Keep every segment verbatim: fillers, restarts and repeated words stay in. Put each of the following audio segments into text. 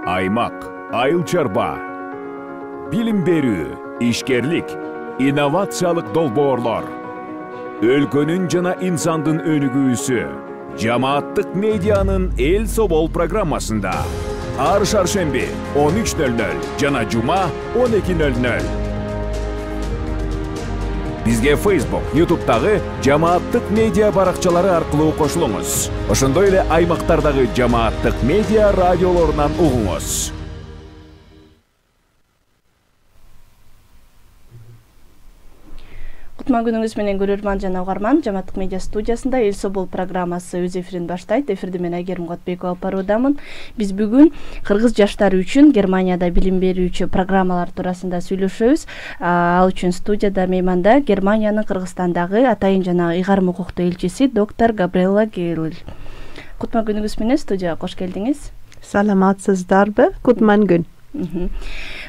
аймак, айыл чарба, билим берүү, ишкерлик, инновациялык долбоорлор, өлкөнүн жана инсандын өнүгүүсү жамааттык медианын Эл Собол программасында ар шаршемби он үч нөл нөл жана жума он эки нөл нөл. Бизге Facebook, YouTube'дагы жамааттык медиа баракчалары аркылуу кошулуңуз. Ошондой эле аймактардагы жамааттык медиа радиолорунан угуңуз. Кутман күнүңүз менен көрөрман жана угарман. Жамааттык медиа студиясында Эл Собол программасы өз эфирин баштайт. Эфирди мен Айгерим Котбекова алып баруудамын. Биз бүгүн кыргыз жаштары үчүн Германияда билим берүүчү программалар туурасында сүйлөшөбүз. Ал үчүн студияда мейманда Германиянын Кыргызстандагы атайын жана ыйгарым укуктуу элчиси доктор Габриэла Гейл. Кутман күнүңүз менен студияга кош келдиңиз. Саламатсыздарбы? Кутман күн.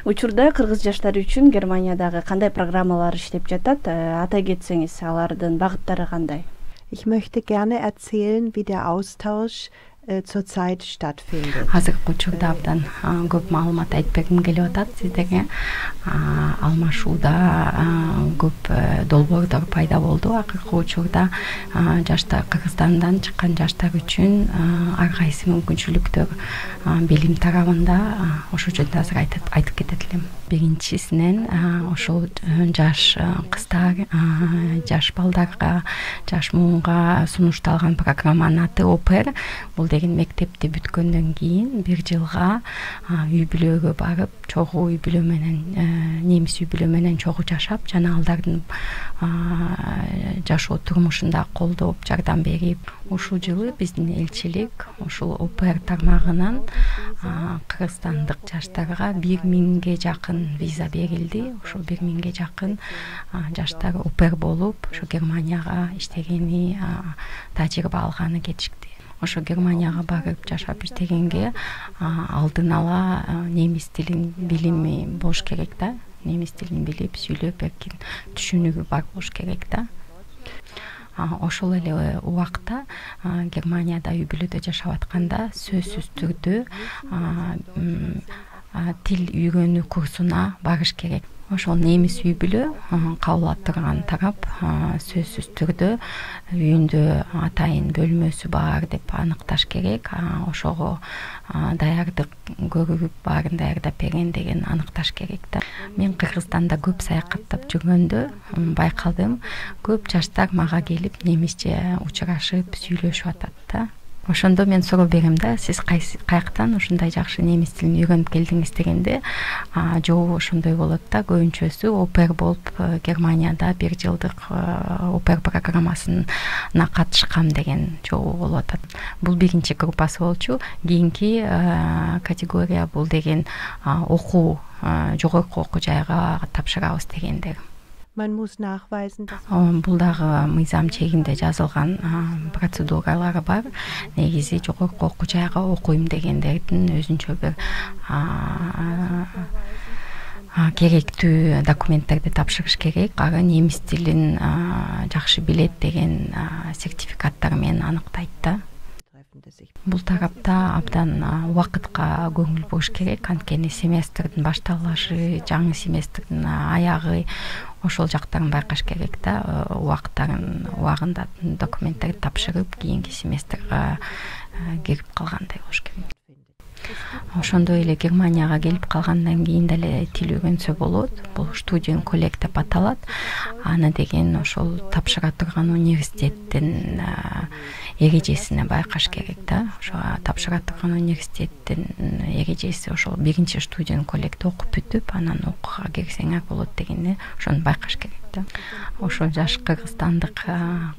Учурда кыргыз жаштары үчүн Германиядагы кандай программалар иштеп жатат? Атай кетсеңиз, алардын багыттары кандай? Ich möchte gerne erzählen, wie der Austausch äh, zurzeit stattfindet. Азыркы учурда абдан көп маалымат айтып бергим келип атат сиздерге. Алмашууда көп долбоорлор пайда болду. Акыркы учурда жаштар, Кыргызстандан чыккан жаштар үчүн ар кайсы мүмкүнчүлүктөр билим тарабында ошол жөнүндө азыр айтып кетет элем. Биринчисинен ошол жаш кыздар, жаш балдарга, жаш муунга сунушталган программанын аты Опер. Бул деген мектепти бүткөндөн кийин бир жылга үй бүлөгө барып, чогуу үй бүлө менен, немис үй бүлө менен чогуу жашап, жана алардын жашоо турмушунда колдоп, жардам берип, ушул жылы биздин элчилик ушул Опер тармагынан кыргызстандык жаштарга бир миңге жакын виза берилди. Ошол бир миңге жакын жаштар Опер болуп, ошо Германияга иштегени, тажрыйба алганы кетишти. Ошо Германияга барып жашап иштегенге алдын ала немис тилин билими болуш керек да. Немис тилин билип, сүйлөп, эркин түшүнүгү бар болуш керек да. Ошол эле убакта Германияда үй бүлөдө жашап атканда сөзсүз түрдө тил үйрөнүү курсуна барыш керек. Ошол немис үй бүлө кабыл аттырган тарап сөзсүз түрдө үйүндө атайын бөлмөсү бар деп аныкташ керек. Ошого даярдык көрүп, баарын даярдап берген деген аныкташ керек да. Мен Кыргызстанда көп саякаттап жүргөндө байкалдым, көп жаштар мага келип немисче учурашып, сүйлөшүп атат да. Ошондо мен суроо берем да, сиз каяктан ушундай жакшы немис тилин үйрөнүп келдиңиз дегенде, жоо ошондой болот да, көбүнчөсү Опер болуп Германияда бир жылдык Опер программасына катышкам деген жоо болуп атат. Бул биринчи группасы болчу. Кийинки категория бул деген окуу, жогорку окуу жайга тапшырабыз дегендер. Man muss nachweisen, dass бул дагы мыйзам чегинде жазылган процедуралары бар. Негизи жогорку окуу жайга окуйм дегендердин өзүнчө бир керектүү документтерди тапшырыш керек. Ага немис тилин жакшы билет деген сертификаттар менен аныктайт да. Бул тарапта абдан убакытка көңүл буруш керек. Анткени семестрдин башталышы, жаңы семестрдин аягы ошол жактарын байкаш керек да. Убактарын убагында документтерди тапшырып, кийинки семестрге кирип калгандай болуш керек. Ошондой эле Германияга келип калгандан кийин деле тил үйрөнсө болот. Бул студент коллект деп аталат. Аны деген ошол тапшыра турган университеттин эрежесине байкаш керек да. Ошо тапшыра турган университеттин эрежеси ошол биринчи студент коллектти окуп бүтүп, анан окууга кирсеңер болот дегенди ошону байкаш керек да. Ошол жаш кыргызстандык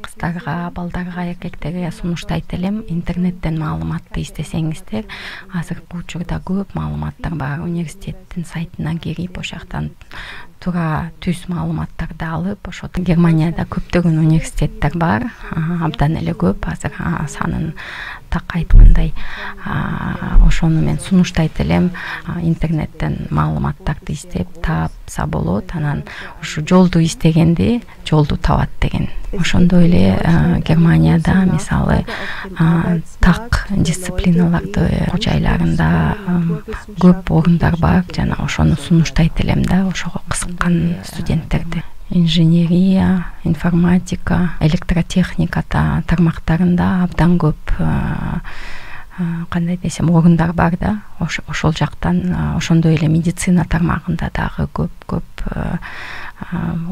кыздарга, балдарга, эркектерге сунуштайт элем, интернеттен маалыматты издесеңиздер, азыркы учурда көп маалыматтар бар. Университеттин сайтына кирип, ошол жактан туура түз маалыматтарды алып, ошо Германияда көптөгөн университеттер бар, абдан эле көп. Азыр санын так айткандай ошону мен сунуштайт элем. Интернеттен маалыматтарды издеп таапса болот, анан ушу жолду издегенди жолду табат деген. Ошондой эле Германияда мисалы так дисциплиналарды жайларында көп орундар бар, жана ошону сунуштайт элем да, ошого кызыккан студенттерди. Инженерия, информатика, электротехника тармактарында абдан көп кандай десем орундар бар да. Ошол жактан ошондой эле медицина тармагында дагы көп-көп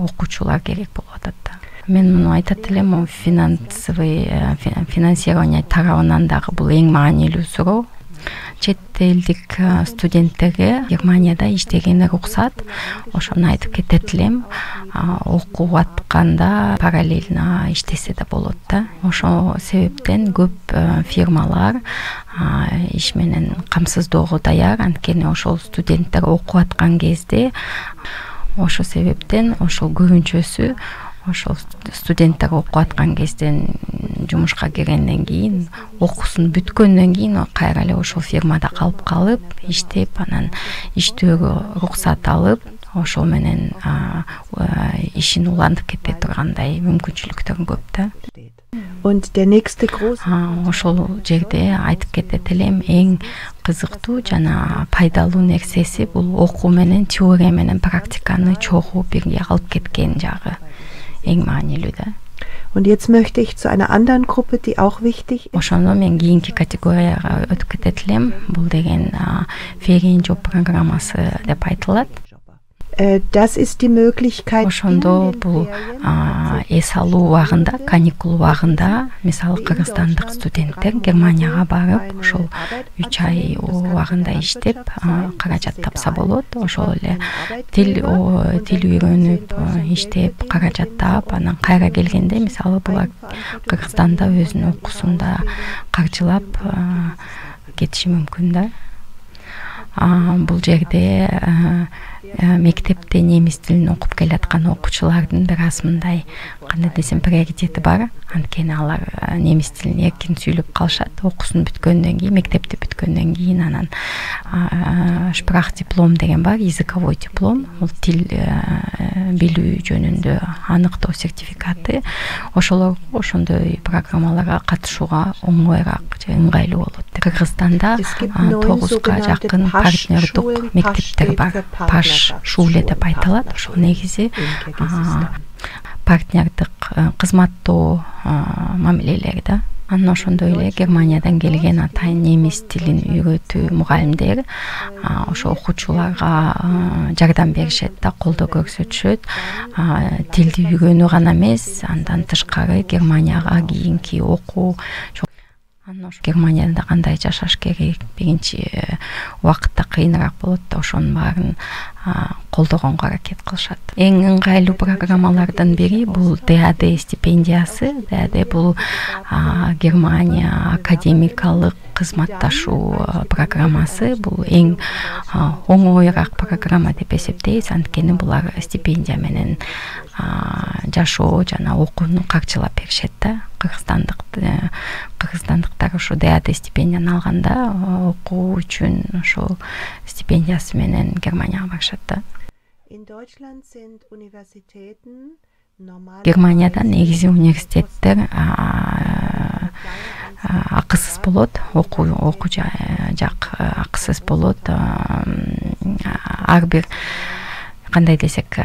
окуучулар керек болуп атат да. Мен муну айтат элем, финансовый финансирование тарабынан дагы бул эң маанилүү суроо. Чет элдик студенттерге Германияда иштегени уруксат. Ошону айтып кетет элем. Окуп атканда параллельно иштесе да болот да. Ошол себептен көп фирмалар иш менен камсыздоого даяр. Анткени ошол студенттер окуп аткан кезде ошол себептен ошол көбүнчөсү ошол студенттер окуп аткан кезден жумушка киргенден кийин, окуусун бүткөндөн кийин кайра эле ошол фирмада калып калып, иштеп, анан иштөөгө уруксат алып, ошол менен ишин улантып кете тургандай мүмкүнчүлүктөр көп да. Ошол жерде айтып кетет элем, эң кызыктуу жана пайдалуу нерсеси бул окуу менен теория менен практиканы чогуу бирге алып кеткен жагы. Эң маанилүү да. Und jetzt möchte ich zu einer anderen Gruppe, die auch wichtig ist. Ошондо мен кийинки категорияга өтүп кетет элем. Бул деген Ferienjob программасы деп айтылат. Das ist die Möglichkeit. Ошондо бул эс алуу убагында, каникул убагында, мисалы кыргызстандык студенттер Германияга барып, ошол үч ай убагында иштеп, каражат тапса болот. Ошол эле тил тил үйрөнүп, иштеп, каражат таап, анан кайра келгенде, мисалы булар Кыргызстанда өзүнүн окуусунда каржылап кетиши мүмкүн да. Бул жерде мектепте немис тилин окуп келаткан окуучулардын бир аз мындай кандай десем приоритети бар. Анткени алар немис тилин эркин сүйлөп калышат. Окуусун бүткөндөн кийин, мектепти бүткөндөн кийин анан шпрах диплом деген бар, языковой диплом, бул тил билүү жөнүндө аныктоо сертификаты. Ошолор ошондой программаларга катышууга оңоюраак же ыңгайлуу болот. Кыргызстанда тогузга жакын партнердук мектептер бар. Паш шууле деп айтылат. Ошол негизи партнердик кызматтоо мамилелери да. Анан ошондой эле Германиядан келген атайын немис тилин үйрөтүү мугалимдер ошо окуучуларга жардам беришет да, колдоо көрсөтүшөт. Тилди үйрөнүү гана эмес, андан тышкары Германияга кийинки окуу. Анан ошо Германияда кандай жашаш керек, биринчи убакытта кыйыныраак болот да, ошонун баарын колдогонго аракет кылышат. Эң ыңгайлуу программалардын бири бул ди а ди стипендиясы. ди а ди бул Германия академикалык кызматташуу программасы. Бул эң оңоюраак программа деп эсептейбиз, анткени булар стипендия менен жашоо жана окууну каржылап беришет да. Кыргызстандык кыргызстандыктар ошо ди а ди стипендияны алганда окуу үчүн ошол стипендиясы менен Германияга барышат да. Германияда негизи университеттер акысыз болот, окуу окуу жак акысыз болот. Ар бир кандай десек,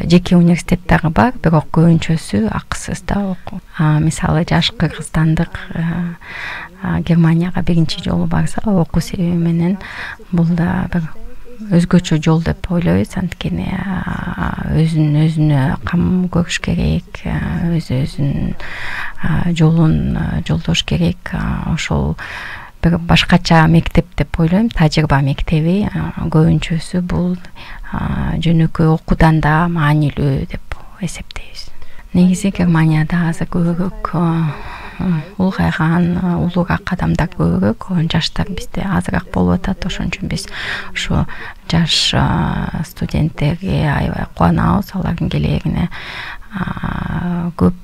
жеке университеттери бар, бирок көбүнчөсү акысыз да окуу. Мисалы жаш кыргызстандык Германияга биринчи жолу барса, окуу себеби менен бул да бир өзгөчө жол деп ойлойбуз. Анткени өзүн өзүнө кам көрүш керек, өз өзүнүн жолун жолдош керек. Ошол бир башкача мектеп деп ойлойм. Тажрыйба мектеби көбүнчөсү бул жөнөкөй окуудан да маанилүү деп эсептейбиз. Негизи Германияда азыр көбүрөөк улгайган, улуураак адамдар көбүрөөк, жаштар бизде азыраак болуп атат. Ошон үчүн биз ошо жаш студенттерге аябай кубанабыз. Алардын келерине көп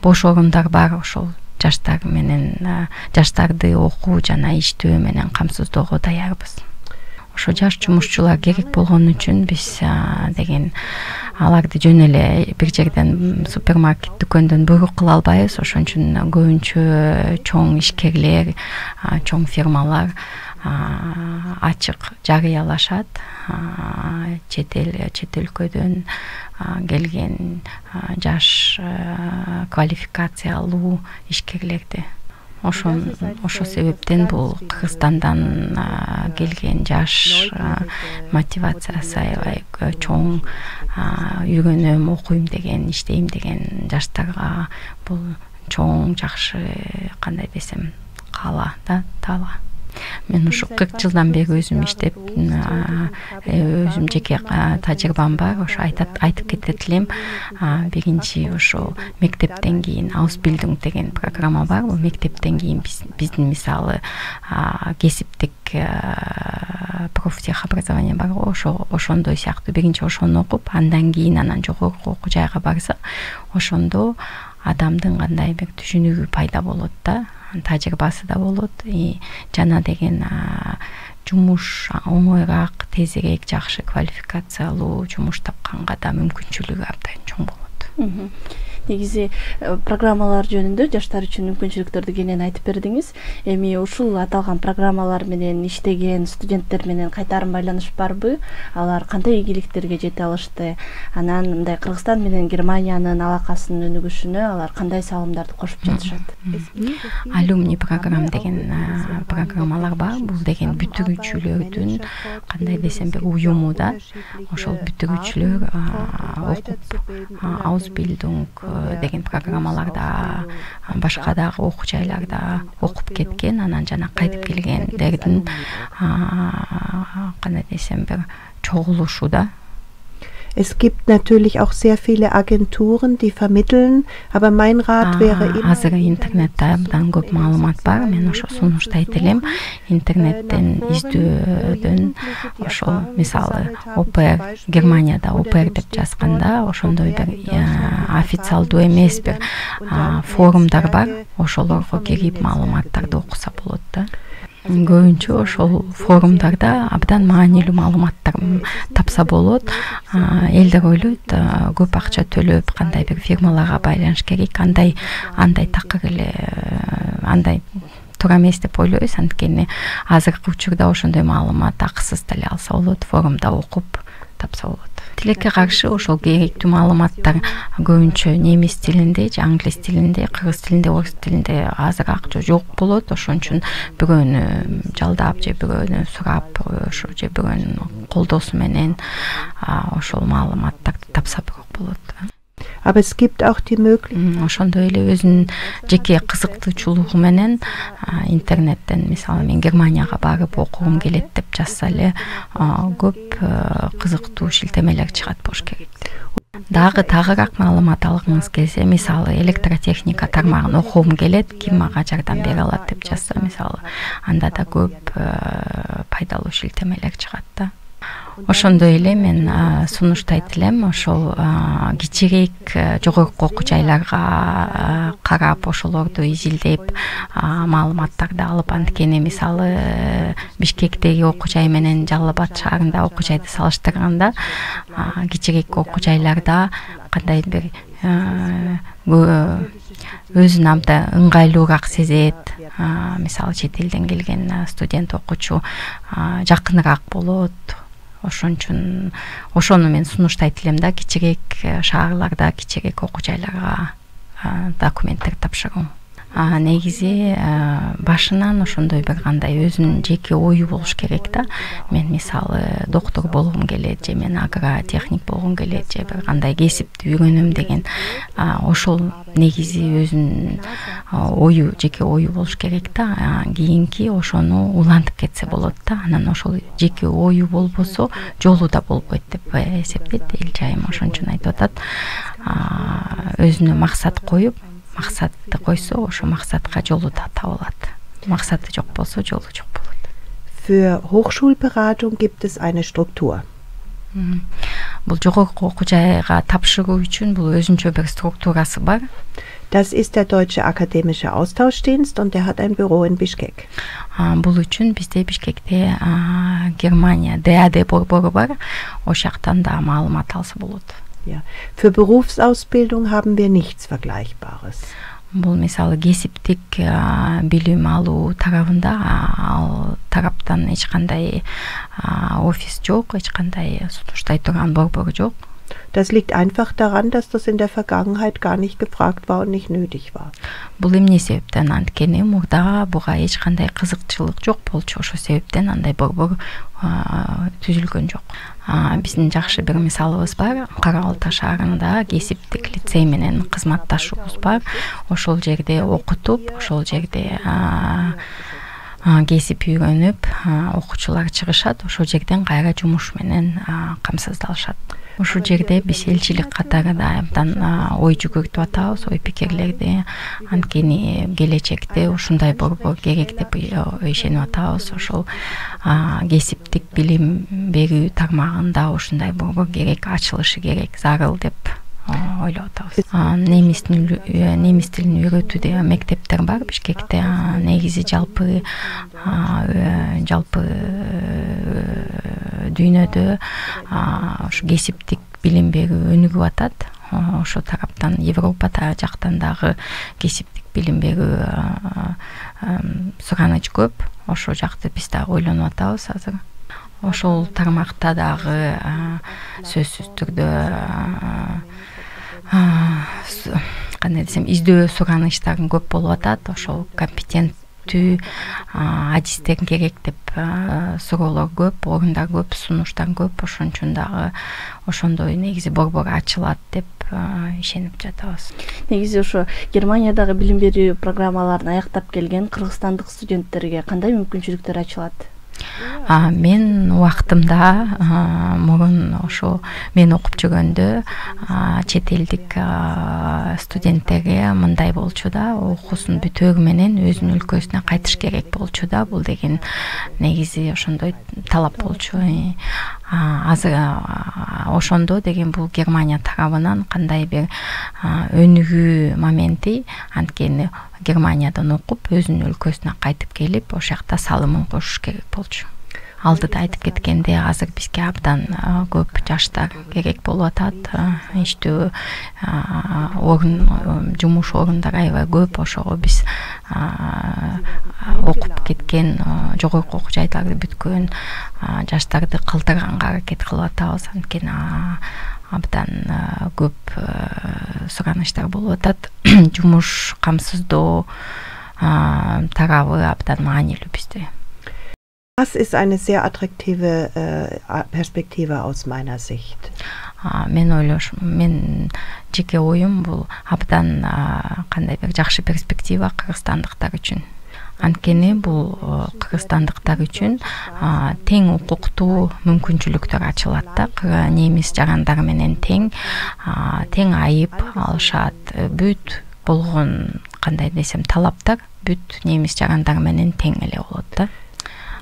бош орундар бар. Ошол жаштар менен жаштарды окуу жана иштөө менен камсыздоого даярбыз. Ошо жаш жумушчулар керек болгон үчүн биз деген аларды жөн эле бир жерден супермаркет дүкөндөн буйрук кыла албайбыз. Ошон үчүн көбүнчө чоң ишкерлер, чоң фирмалар ачык жарыялашат. Чет эл, чет өлкөдөн келген жаш квалификациялуу ишкерлерди. Ошон ошол себептен бул Кыргызстандан келген жаш мотивациясы аябай чоң, үйрөнөм, окуйм деген, иштейм деген жаштарга бул чоң жакшы, кандай десем, каала да, таала. Мен ушу кырк жылдан бери өзүм иштеп, өзүм жеке тажрыйбам бар. Ошо айтып кетет элем. Биринчи ошо мектептен кийин Ausbildung деген программа бар. Бул мектептен кийин биздин мисалы кесиптик профтех образование бар. Ошо ошондой сыяктуу биринчи ошону окуп, андан кийин анан жогорку окуу жайга барса, ошондо адамдын кандай бир түшүнүгү пайда болот да, тажрыйбасы да болот. Жана деген жумуш оңоюраак, тезирээк жакшы квалификациялуу жумуш тапканга да мүмкүнчүлүгү абдан чоң болот. Негизи программалар жөнүндө жаштар үчүн мүмкүнчүлүктөрдү кенен айтып бердиңиз. Эми ушул аталган программалар менен иштеген студенттер менен кайтарым байланыш барбы? Алар кандай ийгиликтерге жете алышты? Анан мындай Кыргызстан менен Германиянын алакасынын өнүгүшүнө алар кандай салымдарды кошуп жатышат? Алюмни программ деген программалар бар. Бул деген бүтүрүүчүлөрдүн кандай десем бир уюму да. Ошол бүтүрүүчүлөр окуп Ausbildung деген программаларда, башка дагы окуу жайларда окуп кеткен, анан жана кайтып келгендердин кандай десем бир чогулушу да. Es gibt natürlich auch sehr viele Agenturen, die vermitteln, aber mein Rat wäre immer... Азыр интернетте абдан көп маалымат бар. Мен ошо сунуштайт элем. Интернеттен издөөдөн ошо мисалы ОПР, Германияда ОПР деп жазганда, ошондой бир официалдуу эмес бир форумдар бар. Ошолорго кирип маалыматтарды окуса болот да. Көбүнчө ошол форумдарда абдан маанилүү маалыматтар тапса болот. Элдер ойлойт, көп акча төлөп кандай бир фирмаларга байланыш керек, андай андай такыр эле, андай туура эмес деп ойлойбуз. Анткени азыркы учурда ошондой маалымат акысыз деле алса болот, форумда окуп тапса болот. Тилекке каршы ошол керектүү маалыматтар көбүнчө немис тилинде, же англис тилинде, кыргыз тилинде, орус тилинде азыраак жок болот. Ошон үчүн бирөөнү жалдап же бирөөнү сурап, ошо же бирөөнүн колдоосу менен ошол маалыматтарды тапса болот. Aber es gibt auch die Möglichkeit. Ошондой эле өзүнүн жеке кызыктуучулугу менен интернеттен, мисалы мен Германияга барып окугум келет деп жазса эле көп кызыктуу шилтемелер чыгат болуш керек. Дагы тагыраак маалымат алгыңыз келсе, мисалы электротехника тармагын окугум келет, ким мага жардам бере алат деп жазса, мисалы, анда да көп пайдалуу шилтемелер чыгат да. Ошондой эле мен сунуштайт элем, ошол кичирээк жогорку окуу жайларга карап, ошолорду изилдеп, маалыматтарды алып, анткени мисалы Бишкектеги окуу жай менен Жалал Абад шаарында окуу жайды салыштырганда, кичирээк окуу жайларда кандай бир өзүн абдан ыңгайлуураак сезет. Мисалы чет элден келген студент окуучу жакыныраак болот. Ошон үчүн ошону мен сунуштайт элем да, кичирээк шаарларда, кичирээк окуу жайларга документтер тапшыруу. Негизи башынан ошондой бир кандай өзүнүн жеке ою болуш керек да. Мен мисалы доктор болгум келет, же мен агротехник болгум келет, же бир кандай кесипти үйрөнөм деген ошол негизи өзүнүн ою, жеке ою болуш керек да. Кийинки ошону улантып кетсе болот да. Анан ошол жеке ою болбосо жолу да болбойт деп эсептейт эл жайым. Ошон үчүн айтып атат, өзүнө максат коюп, максатты койсо, ошо максатка жолу да табылат. Максаты жок болсо, жолу жок болот. Für Hochschulberatung gibt es eine Struktur. Бул жогорку окуу жайга тапшыруу үчүн бул өзүнчө бир структурасы бар. Das ist der Deutsche Akademische Austauschdienst und der hat ein Büro in Bishkek. Бул үчүн бизде Бишкекте Германия ди а дэ борбору бар. Ошол жактан да маалымат алса болот. Ja. Für Berufsausbildung haben wir nichts Vergleichbares. Бул мисалы кесиптик билим алуу тарабында ал тараптан эч кандай офис жок, эч кандай сунуштай турган борбор жок. Das liegt einfach daran, dass das in der Vergangenheit gar nicht gefragt war und nicht nötig war. Бул эмне себептен анткени мурда буга эч кандай кызыкчылык жок болчу, ошол себептен андай борбор түзүлгөн жок. Биздин жакшы бир мисалыбыз бар. Кара Балта шаарында кесиптик лицей менен кызматташуубуз бар. Ошол жерде окутуп, ошол жерде кесип үйрөнүп, окуучулар чыгышат, ошол жерден кайра жумуш менен камсыздалышат. Ошол жерде биз элчилик катарында абдан ой жүгүртүп атабыз, ой пикирлерди. Анткени келечекте ушундай борбор керек деп ишенип атабыз. Ошол кесиптик билим берүү тармагында ушундай борбор керек, ачылышы керек, зарыл деп ойлоп атабыз. Немис немис тилин үйрөтүүдө мектептер бар Бишкекте. Негизи жалпы жалпы дүйнөдө ошо кесиптик билим берүү өнүгүп атат. Ошол тараптан Европа жактан дагы кесиптик билим берүү сураныч көп. Ошол жакты биз дагы ойлонуп атабыз азыр. Ошол тармакта дагы сөзсүз түрдө кандай десем, издөө суранычтар көп болуп атат. Ошол компетенттүү адистер керек деп суроолор көп, орундар көп, сунуштар көп. Ошон үчүн дагы ошондой негизи борбор ачылат деп ишенип жатабыз. Негизи ошо Германиядагы билим берүү программаларын аяктап келген кыргызстандык студенттерге кандай мүмкүнчүлүктөр ачылат? Мен убактымда мурун ошо мен окуп жүргөндө чет элдик студенттерге мындай болчу да, окуусун бүтөөгү менен өзүнүн өлкөсүнө кайтыш керек болчу да. Бул деген негизи ошондой талап болчу. Азыр ошондо деген бул Германия тарабынан кандай бир өнүгүү моменти, анткени Германиядан окуп өзүнүн өлкөсүнө кайтып келип ошол жакта салымын кошуш керек болчу. Алдыда айтып кеткенде азыр бизге абдан көп жаштар керек болуп атат. Иштөө орун, жумуш орундары аябай көп. Ошого биз окуп кеткен, жогорку окуу жайларды бүткөн жаштарды калтырганга аракет кылып атабыз. Анткени абдан көп суранычтар болуп атат. Жумуш камсыздоо тарабы абдан маанилүү бизде. Das ist eine sehr attraktive äh, Perspektive aus meiner Sicht. Мен ойлош, мен жеке оюм бул абдан кандай бир жакшы перспектива кыргызстандыктар үчүн. Анткени бул кыргызстандыктар үчүн тең укуктуу мүмкүнчүлүктөр ачылат да. Немис жарандар менен тең тең айып алышат. Бүт болгон кандай десем талаптар бүт немис жарандар менен тең эле болот да.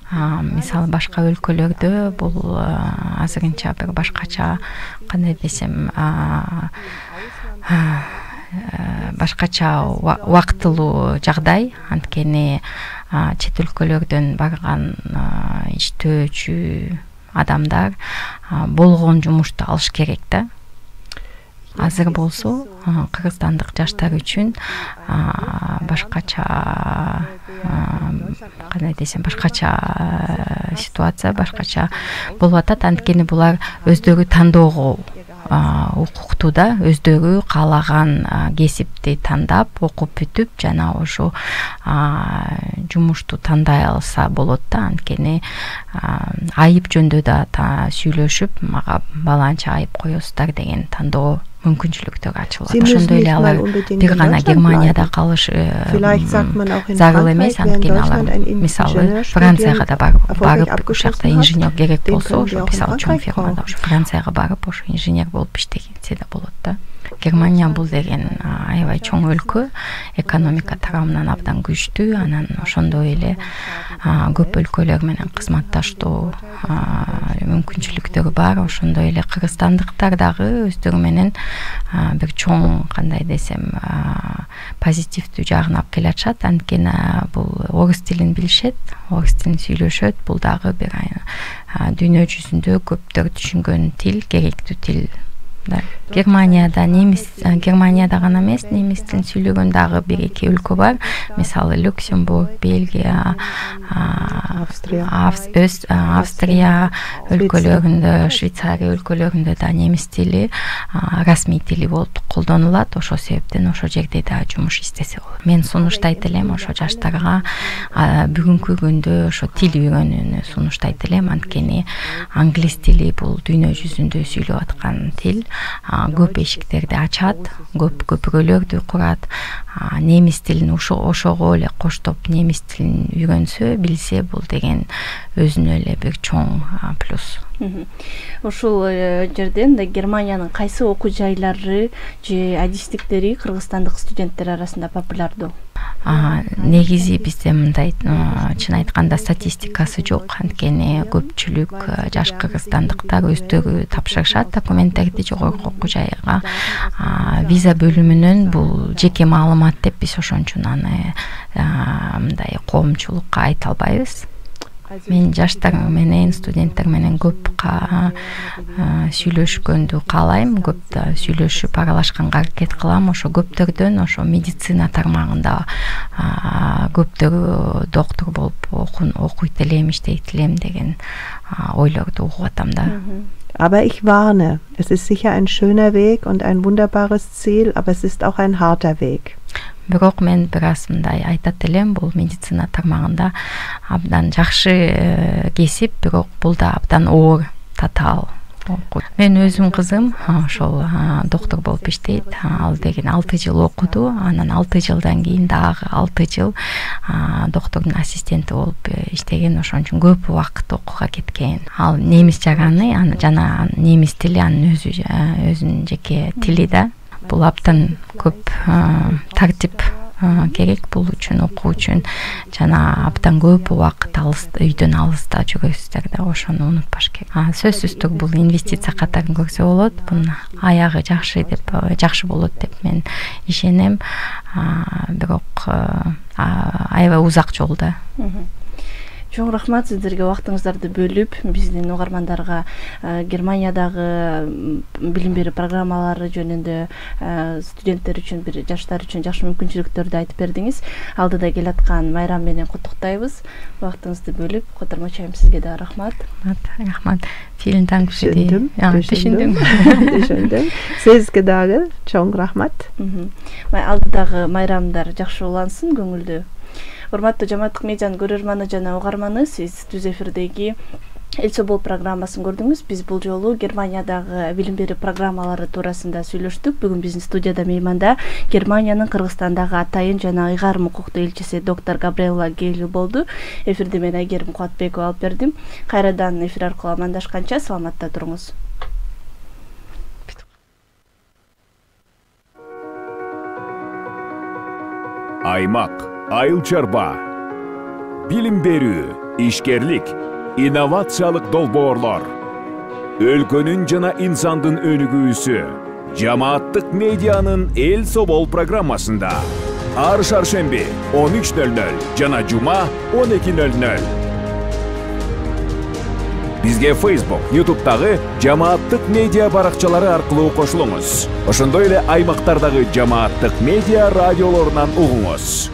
Мисалы башка өлкөлөрдө бул азырынча бир башкача кандай десем башкача убактылуу жагдай. Анткени чет өлкөлөрдөн барган иштөөчү адамдар болгон жумушту алыш керек да. Азыр болсо кыргызстандык жаштар үчүн башкача кандай десем башкача ситуация, башкача болуп атат. Анткени булар өздөрү тандоого укуктуу да, өздөрү каалаган кесипти тандап, окуп бүтүп жана ошо жумушту тандай алса болот да. Анткени айып жөнүндө да сүйлөшүп, мага баланча айып коесуздар деген тандоо мүмкүнчүлүктөр ачылат. Ошондой эле алар бир гана Германияда калыш зарыл эмес. Анткени алар мисалы Францияга да барып, ошол жакта инженер керек болсо, ошо мисалы чоң фирмада ошо Францияга барып, ошо инженер болуп иштегенсе да болот да. Германия бул деген аябай чоң өлкө, экономика тарабынан абдан күчтүү, анан ошондой эле көп өлкөлөр менен кызматташтоо мүмкүнчүлүктөрү бар. Ошондой эле кыргызстандыктар дагы өздөрү менен бир чоң, кандай десем, позитивдүү жагын алып келатышат. Анткени бул орус тилин билишет, орус тилин сүйлөшөт. Бул дагы бир дүйнө жүзүндө көптөр түшүнгөн тил, керектүү тил. Германияда немис Германияда гана эмес, немис тилин сүйлөгөн дагы бир эки өлкө бар. Мисалы Люксембург, Бельгия, Австрия, Австрия өлкөлөрүндө, Швейцария өлкөлөрүндө да немис тили расмий тили болуп колдонулат. Ошол себептен ошол жерде да жумуш издесе болот. Мен сунуштайт элем ошо жаштарга бүгүнкү күндө ошо тил үйрөнүүнү сунуштайт элем. Анткени англис тили бул дүйнө жүзүндө сүйлөп аткан тил. Көп эшиктерди ачат, көп көпүрөлөрдү курат. Немис тилин ошого эле коштоп немис тилин үйрөнсө, билсе, бул деген өзүнө эле бир чоң плюс. Ушул жерден да Германиянын кайсы окуу жайлары же адистиктери кыргызстандык студенттер арасында популярдуу? Негизи бизде мындай, чын айтканда, статистикасы жок. Анткени көпчүлүк жаш кыргызстандыктар өздөрү тапшырышат документтерди жогорку окуу жайга. Виза бөлүмүнөн бул жеке маалымат деп биз ошон үчүн аны мындай коомчулукка айта албайбыз. Мен жаштар менен, студенттер менен көп сүйлөшкөндү каалайм, көп да сүйлөшүп аралашканга аракет кылам. Ошо көптөрдөн ошо медицина тармагында көптөр доктор болуп окуйт элем, иштейт элем деген ойлорду угуп атам да. Aber ich warne, es ist sicher ein schöner Weg und ein wunderbares Ziel, aber es ist auch ein harter Weg. Бирок мен бир аз мындай айтат элем, бул медицина тармагында абдан жакшы кесип, бирок бул да абдан оор, татаал. Мен өзүм кызым ошол доктор болуп иштейт. Ал деген алты жыл окуду, анан алты жылдан кийин дагы алты жыл доктордун ассистенти болуп иштеген. Ошон үчүн көп убакыт окууга кеткен. Ал немис жаганы жана немис тили анын өзү өзүнүн жеке тили да. Бул абдан көп тартип керек бул үчүн, окуу үчүн, жана абдан көп убакыт алыста, үйдөн алыста жүрөсүздөр да, ошону унутпаш керек. Сөзсүз түрдө бул инвестиция катарын көрсө болот. Бунун аягы жакшы деп, жакшы болот деп мен ишенем. Бирок аябай узак жол да. Чоң рахмат сиздерге убактыңыздарды бөлүп, биздин угармандарга Германиядагы билим берүү программалары жөнүндө студенттер үчүн, бир жаштар үчүн жакшы мүмкүнчүлүктөрдү айтып бердиңиз. Алдыда келаткан майрам менен куттуктайбыз. Убактыңызды бөлүп, котормочайым, сизге да рахмат. Рахмат. Vielen Dank für die. Түшүндүм. Түшүндүм. Сизге дагы чоң рахмат. Алдыдагы майрамдар жакшы улансын, көңүлдүү. Урматтуу Жамааттык медианын көрөрманы жана угарманы, сиз түз эфирдеги Эл Собол программасын көрдүңүз. Биз бул жолу Германиядагы билим берүү программалары туурасында сүйлөштүк. Бүгүн биздин студияда мейманда Германиянын Кыргызстандагы атайын жана ыйгарым укуктуу элчиси доктор Габриэла Гейлю болду. Эфирди мен Айгерим Кубатбекова алып бердим. Кайрадан эфир аркылуу амандашканча саламатта туруңуз. Аймак, айыл чарба, билим берүү, ишкерлик, инновациялык долбоорлор, өлкөнүн жана инсандын өнүгүүсү, Жамааттык медианын Эл Собол программасында ар шаршемби он үч нөл нөл жана жума он эки нөл нөл. Бизге Facebook, YouTube'дагы Жамааттык медиа баракчалары аркылуу кошулуңуз. Ошондой эле аймактардагы Жамааттык медиа радиолорунан угуңуз.